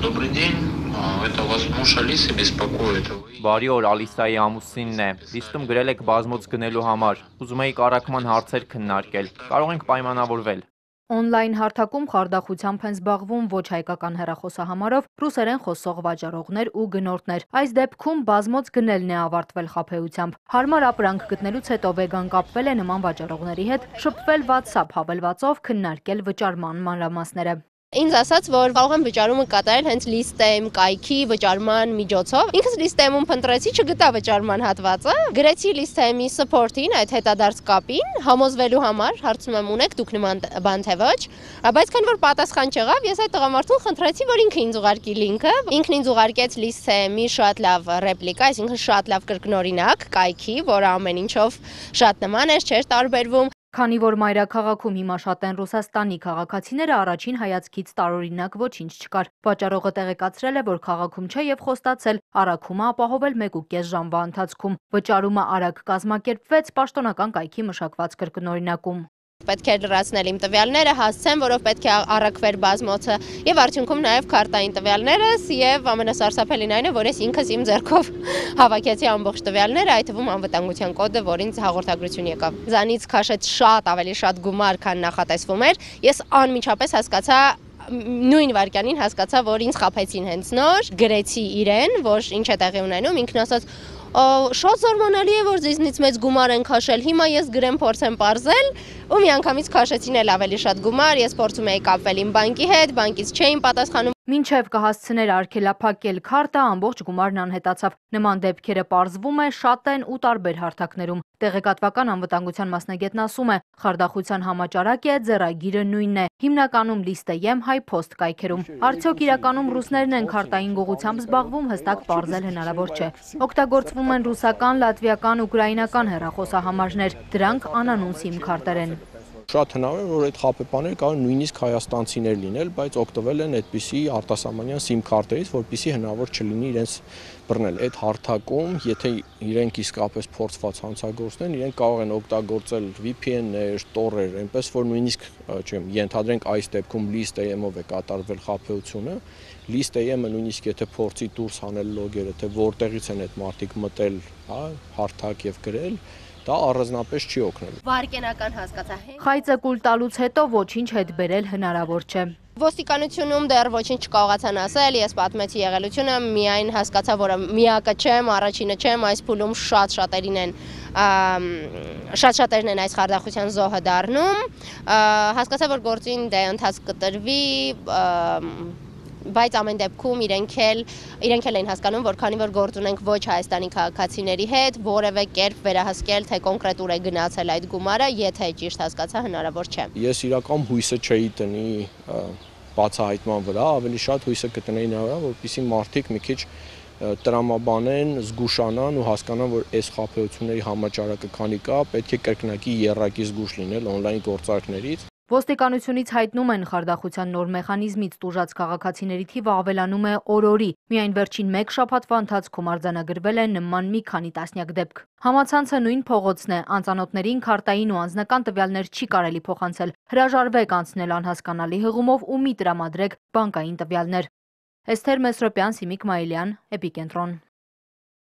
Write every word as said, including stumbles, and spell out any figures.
Добрый день. А, Это вас муж Алисы беспокоит. Вы- Բարի օր, Ալիսայի ամուսինն է։ Լիստում գրել եք բազմոց գնելու համար։ Ուզում էիք առաքման հարցեր քննարկել։ Կարող ենք պայմանավորվել։ Օնլայն հարթակում խարդախությամբ են զբաղվում ոչ հայկական հեռախոսահամարով ռուսերեն խոսող վաճառողներ ու գնորդներ։ Այս դեպքում բազմոց գնելն է ավարտվել խաբեությամբ։ Հարմար ապրանք գտնելուց հետո վեգան կապվել է նման վաճառողների հետ, շփվել WhatsApp հավելվածով, քննարկել վճարման մանրամասները։ Ինձ ասաց, որ կարող եմ վճարումը կատարել հենց List.am կայքի վճարման միջոցով։ Ինքս List.am-ում փնտրեցի, չգտա վճարման հատվածը։ Գրեցի List.am-ի support-ին, այդ հետադարձ կապին, համոզվելու համար, հարցնում եմ ունեք դուք նման բան թե ոչ, բայց քանի որ պատասխան չեղավ, ես այդ տղամարդուն խնդրեցի, որ ինքը ինձ ուղարկի լինքը։ Ինքն ինձ ուղարկեց List.am-ի շատ լավ ռեպլիկա, այսինքն շատ լավ կրկնօրինակ կայքի, որը ամեն ինչով շատ նման էր, չէր տարբերվում։ Քանի որ մայրաքաղաքում հիմա շատ են Ռուսաստանի քաղաքացիները, առաջին հայացքից տարօրինակ ոչինչ չկար։ Վաճառողը տեղեկացրել է, որ քաղաքում չէ եւ խոստացել առաքումը ապահովել մեկ ու կես ժամվա ընթացքում։ Վճարումը արագ կազմակերպվեց պաշտոնական կայքի մշակված կրկնօրինակում։ Պետք է լրացնել իմ տվյալները, հասցեմ, որով պետք է առաքվեր բազմոցը եւ արդյունքում նաեւ քարտային տվյալներս եւ ամենասարսափելին այն է, որ ես ինքս իմ ձեռքով հավաքեցի ամբողջ տվյալները, այդ թվում անվտանգության կոդը, որ ինձ հաղորդագրություն եկավ։ Զանից քաշեց շատ ավելի շատ գումար, քան նախատեսվում էր։ Ես անմիջապես հասկացա նույն վարքյանին հասկացա, որ ինձ խաբեցին հենց նոր, գրեցի իրեն, որ ինչ է տեղի ունենում, ինքն ասաց շատ զարմանալի է, որ ձեզնից մեծ գումար են քաշել, հիմա ես գրեմ փորձեմ պարզել, ու միանգամից քաշեցին էլ ավելի շատ գումար, ես փորձում էի կապվել իմ բանկի հետ, բանկից չէին պատասխանում։ Մինչև կհասցներ արգելափակել քարտը, ամբողջ գումարն անհետացավ։ Նման դեպքերը պարզվում է շատ են ու տարբեր հարթակներում։ Տեղեկատվական անվտանգության մասնագետն ասում է, խարդախության համաճարակ է, ձեռագիրը նույնն է, հիմնականում List.am, HiPost կայքերում։ Արդյոք իրականում ռուսներն են քարտային գողությամբ զբաղվում, հստակ պարզել հնարավոր չէ։ Օգտագործվում են ռուսական, լատվիական, ուկրաինական հեռախոսահամարներ, դրանք անանուն սիմ քարտեր են։ Շատ հնարավոր է, որ այդ խաբեբաները կարող նույնիսկ հայաստանցիներ լինել, բայց օգտվել են այդպիսի արտասահմանյան սիմ քարտերից, որպեսզի հնարավոր չլինի իրենց բռնել։ Այդ հարթակում, եթե իրենք իսկապես փորձված հանցագործներ, իրենք կարող են օգտագործել V P N-ներ, տոռեր, այնպես որ նույնիսկ, չեմ, ենթադրենք այս դեպքում List.am-ով է կատարվել խաբեությունը, List.am-ը նույնիսկ եթե փորձի դուրս հանել լոգերը, թե որտեղից են այդ մարդիկ մտել, հա, հարթակ եւ գրել, դա առանձնապես չի օգնել։ Վարկենական հասկացա։ Խայծը կուլ տալուց հետո ոչինչ հետ բերել հնարավոր չէ։ Ոստիկանությունում դեռ ոչինչ չկարողացան ասել, ես պատմեցի եղելությունը, միայն հասկացա, որ միակը չեմ, առաջինը չեմ, այս փուլում շատ շատերին են շատ շատերն են այս խարդախության զոհը դառնում, հասկացա, որ գործին դե ընթացք կտրվի, բայց ամեն դեպքում իրենք էլ իրենք էլ են հասկանում, որ քանի որ գործ ունենք ոչ Հայաստանի քաղաքացիների հետ, որևէ կերպ վերահսկել, թե կոնկրետ ուր է գնացել այդ գումարը, եթե ճիշտ հասկացա, հնարավոր չէ։ Ես իրական հույսը չէի տնի բացահայտման վրա, ավելի շատ հույսը կտնեի նրա վրա, որպեսզի մարդիկ մի քիչ տրամաբանեն, զգուշանան ու հասկանան, որ այս խաբեությունների համաճարակը քանի կա, պետք է կրկնակի եռակի զգուշ լինել օնլայն գործարքներից։ Ոստիկանությունից հայտնում են խարդախության նոր մեխանիզմից տուժած քաղաքացիների թիվը ավելանում է օր-օրի։ Միայն վերջին մեկ շաբաթվա ընթացքում արձանագրվել է նման մի քանի տասնյակ դեպք։ Համացանցը նույն փողոցն է, անծանոթներին քարտային ու անձնական տվյալներ չի կարելի փոխանցել։ Հրաժարվեք անցնել անհասկանալի հղումով ու մի տրամադրեք բանկային տվյալներ։ Էսթեր Մեսրոպյան, Սիմիկ Մայիլյան, Էպիկենտրոն։